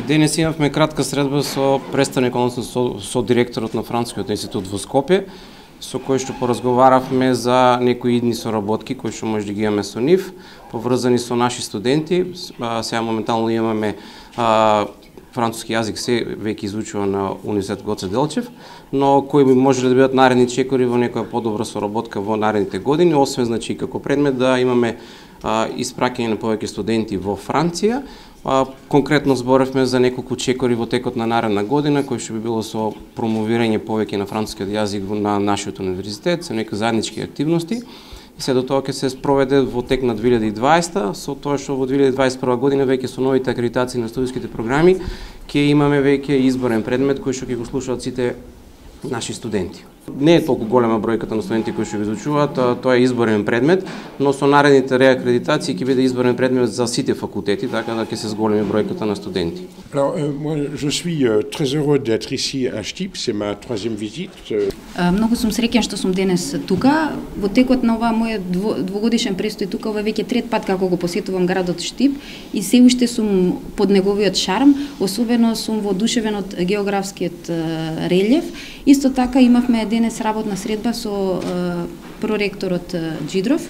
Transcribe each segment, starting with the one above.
Денес имавме кратка средба со представник, односно со директорот на Францускиот институт во Скопје, со кој што поразговаравме за некои идни соработки кои што може да ги имаме со нив, поврзани со наши студенти. Сега моментално имаме француски јазик се веќе изучува на Универзитет Гоце Делчев, но кои може да бидат наредни чекори во некоја подобра соработка во наредните години, освен значи како предмет да имаме испраќање на повеќе студенти во Франција. Конкретно зборевме за неколку чекори во текот на наредна година, кој што би било со промовирање повеќе на францускиот јазик на нашиот универзитет, со некои заеднички активности. И се до тоа ќе се спроведе во тек на 2020, со тоа што во 2021 година веќе со новите акредитации на студиските програми ќе имаме веќе изборен предмет кој што ќе го слушаат сите наши студенти. Не е толку голема бројката на студенти кои што го изучуваат, тоа е изборен предмет, но со наредните реакредитации ќе биде изборен предмет за сите факултети, така да ќе се зголеми бројката на студенти. Alors, moi, je suis très heureux d'être ici à Štip, c'est ma troisième visite. Многу сум среќен што сум денес тука. Во текот на оваа моја двогодишен престој тука, ова веќе трет пат како го посетувам градот Štip и се уште сум под неговиот шарм, особено сум воодушевен од географскиот релјеф. Исто така имавме денес работна средба со проректорот Джидров,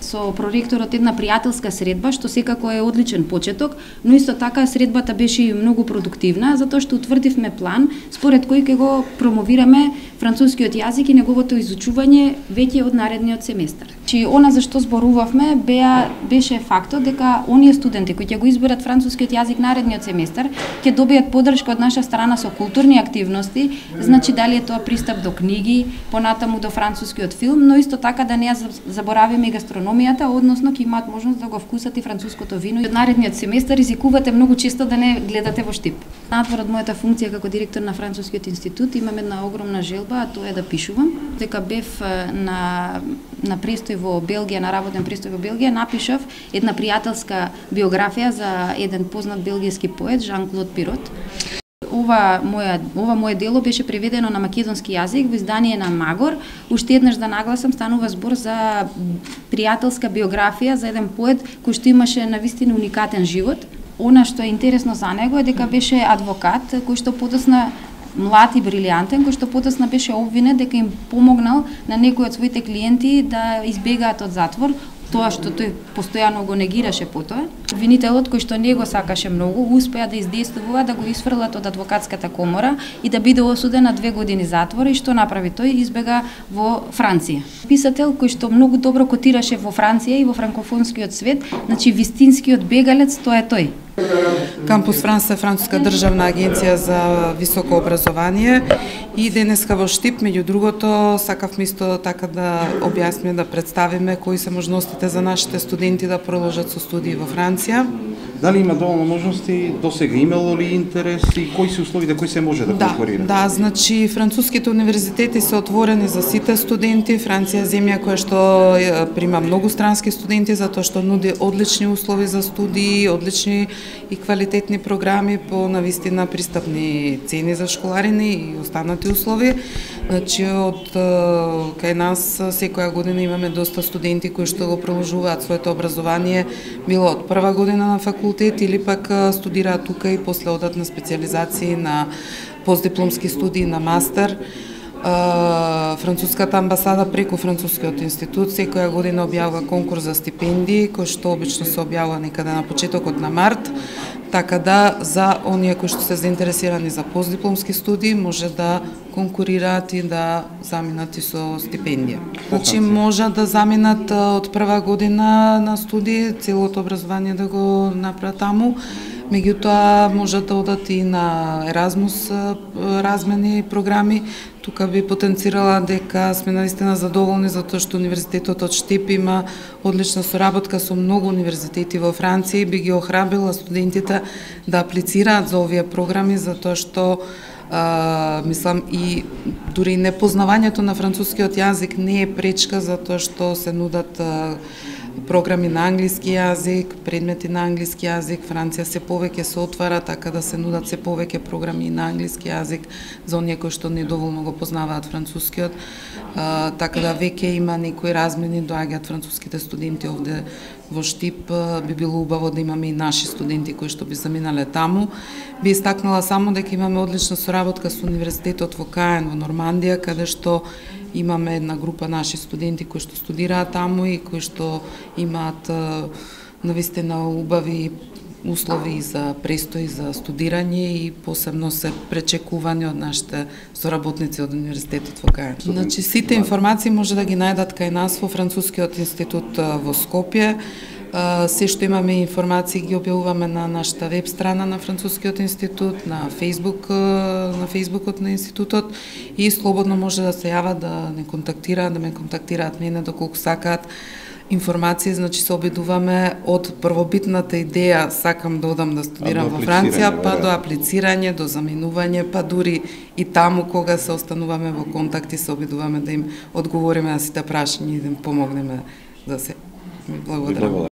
со проректорот една пријателска средба, што секако е одличен почеток, но исто така средбата беше многу продуктивна, затоа што утврдивме план според кој ќе го промовираме францускиот јазик и неговото изучување веќе од наредниот семестар. Чи она за што зборувавме беше фактот дека оние студенти кои ќе го изберат францускиот јазик наредниот семестар ќе добијат поддршка од наша страна со културни активности, значи дали е тоа пристап до книги, понатаму до францускиот филм, но исто така да не ја заборавиме и гастрономијата, односно ќе имаат можност да го вкусат и француското вино. Од наредниот семестар ризикувате многу често да не гледате во Štip. Надвор од мојата функција како директор на Францускиот институт имам една огромна желба, а тоа е да пишувам. Дека бев на престој во Белгија, на работен престој во Белгија, напишав една пријателска биографија за еден познат белгијски поет, Жан-Клод Пирот. Ова моје дело беше преведено на македонски јазик во издание на Магор. Уште еднаш да нагласам, станува збор за пријателска биографија за еден поет кој што имаше навистина уникатен живот. Она што е интересно за него е дека беше адвокат кој што подосна млад и брилијантен, кој што потосна беше обвинет дека им помогнал на некои од своите клиенти да избегаат од затвор, тоа што тој постојано го негираше потоа. Обвинителот кој што не го сакаше многу, успеа да издействува да го исфрлат од адвокатската комора и да биде осуден на 2 години затвор. И што направи тој? Избега во Франција. Писател кој што многу добро котираше во Франција и во франкофонскиот свет, значи вистинскиот бегалец, тоа е тој. Кампус Франс е француска државна агенција за високо образование и денеска во Štip, меѓу другото, сакавме исто така да објасниме, да представиме кои се можностите за нашите студенти да продолжат со студии во Франција. Дали има доволно можности, досега имало ли интерес и кои се условите, кои се може да конкурират? Да, значи француските универзитети се отворени за сите студенти. Франција е земја која што прима многу странски студенти затоа што нуди одлични услови за студии, одлични и квалитетни програми по навистина пристапни цени за школарини и останати услови. Значи од кај нас секоја година имаме доста студенти кои што го продолжуваат своето образование, било од прва година на факултет или пак студираат тука и после одат на специализации, на постдипломски студии, на мастер. Француската амбасада преку Францускиот институт секоја година објавува конкурс за стипендии, кој што обично се објавува некаде на почетокот на март, така да за оние кои што се заинтересирани за постдипломски студии може да конкурираат и да заминат и со стипендија. Значи може да заминат од прва година на студии, целото образование да го направат таму. Меѓутоа можат да одат и на Еразмус размени програми. Тука би потенцирала дека сме наистина задоволни затоа што Универзитетот од Štip има одлична соработка со многу универзитети во Франција и би ги охрабрила студентите да аплицираат за овие програми затоа што мислам и дури непознавањето на францускиот јазик не е пречка затоа што се нудат програми на англиски јазик, предмети на англиски јазик. Франција се повеќе се отвара, така да се нудат се повеќе програми на англиски јазик за оние кои што недоволно го познаваат францускиот. Така да веќе има некои размени, доаѓаат француските студенти овде во Штип би било убаво да имаме и наши студенти кои што би заминале таму. Би истакнала само дека имаме одлична соработка со Универзитетот во Каен во Нормандија, каде што имаме една група наши студенти кои што студираат таму и кои што имаат навистина убави услови за престој за студирање и посебно се пречекувани од нашите соработници од Универзитетот во Каен. Значи, сите информации може да ги најдат кај нас во Францускиот институт во Скопје. Се што имаме информации ги објавуваме на нашата веб страна на Францускиот институт, на фејсбукот на институтот и слободно може да се јават да не контактираат, да ме контактираат мене доколку сакаат информации. Значи се обидуваме од првобитната идеја сакам да одам да студирам во Франција, па до аплицирање, до заминување, па дури и таму кога се остануваме во контакти се обидуваме да им одговориме на сите прашања и да им помогнеме да се. Благодарам.